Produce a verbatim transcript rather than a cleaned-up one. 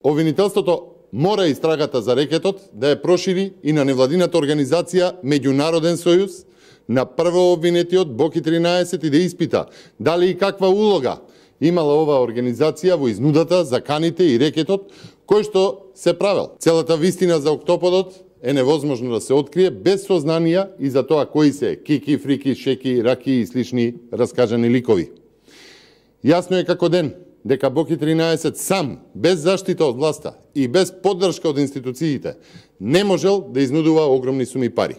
Обвинителството мора истрагата за рекетот да ја прошири и на невладината организација Меѓународен сојуз, на прво обвинетиот Боки тринаесет и да испита дали и каква улога имала оваа организација во изнудата, заканите и рекетот кој што се правел. Целата вистина за Октоподот е невозможно да се открие без сознанија и за тоа кои се Кики, Фрики, Шеки, Раки и слични раскажани ликови. Јасно е како ден дека Боки тринаесет сам, без заштита од власта и без поддршка од институциите, не можел да изнудува огромни суми пари.